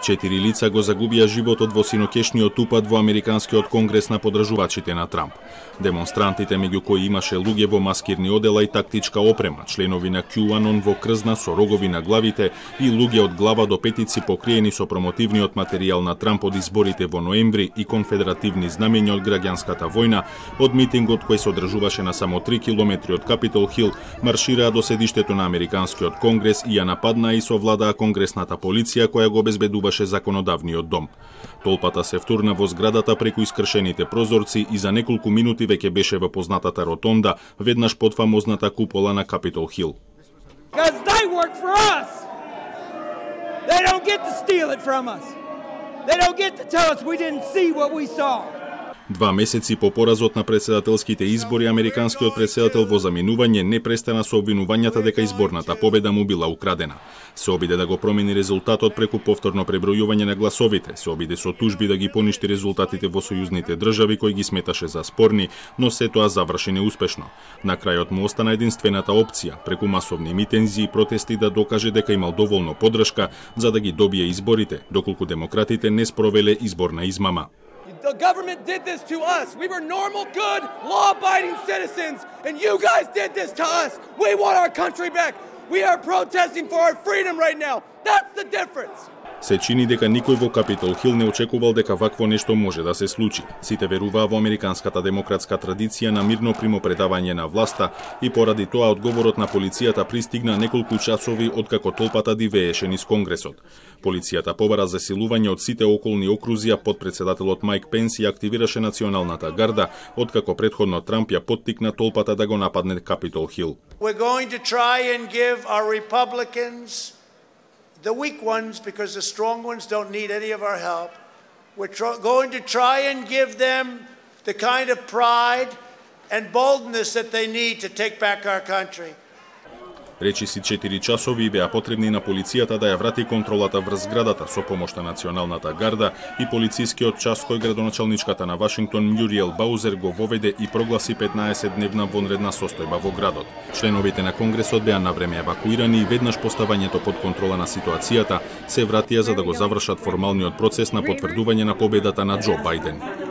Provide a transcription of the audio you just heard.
4 лица го загубија животот во синокешниот упад во Американскиот конгрес на подржувачите на Трамп. Демонстрантите, меѓу кои имаше луѓе во маскирни одела и тактичка опрема, членови на QAnon во крзна со рогови на главите и луѓе од глава до петици покриени со промотивниот материјал на Трамп од изборите во ноември и конфедеративни знамења од граѓанската војна, од митингот кој се одржуваше на само 3 километри од Капитол Хил, маршираа до седиштето на Американскиот конгрес и ја нападнаа и совладаа конгресната полиција која го обезбедуваше законодавниот дом. Толпата се втурна во зградата преку искршените прозорци и за неколку минути веќе беше во познатата ротонда, веднаш под фамозната купола на Капитол Хил. Два месеци по поразот на претседателските избори, американскиот претседател во заминување не престана со обвинувањата дека изборната победа му била украдена. Се обиде да го промени резултатот преку повторно пребројување на гласовите, се обиде со тужби да ги поништи резултатите во сојузните држави кои ги сметаше за спорни, но се тоа заврши неуспешно. На крајот му остана единствената опција, преку масовни митинзи и протести да докаже дека имал доволно поддршка за да ги добие изборите, доколку демократите не спровеле изборна измама. The government did this to us. We were normal, good, law-abiding citizens, and you guys did this to us. We want our country back. We are protesting for our freedom right now. That's the difference. Се чини дека никој во Капитол Хил не очекувал дека вакво нешто може да се случи. Сите веруваа во американската демократска традиција на мирно примопредавање на власта и поради тоа одговорот на полицијата пристигна неколку часови откако толпата дивееше низ Конгресот. Полицијата побара засилување од сите околни окрузија, подпредседателот Майк Пенс и активираше националната гарда, откако претходно Трамп ја поттикна толпата да го нападне Капитол Хил. We're going to try and give our Republicans, the weak ones, because the strong ones don't need any of our help. We're going to try and give them the kind of pride and boldness that they need to take back our country. Речиси 4 часови беа потребни на полицијата да ја врати контролата врз зградата со помош на националната гарда и полицискиот час кој градоначалничката на Вашингтон Мюриел Баузер го воведе и прогласи 15-дневна вонредна состојба во градот. Членовите на Конгресот беа навреме евакуирани и веднаш поставањето под контрола на ситуацијата се вратија за да го завршат формалниот процес на потврдување на победата на Џо Бајден.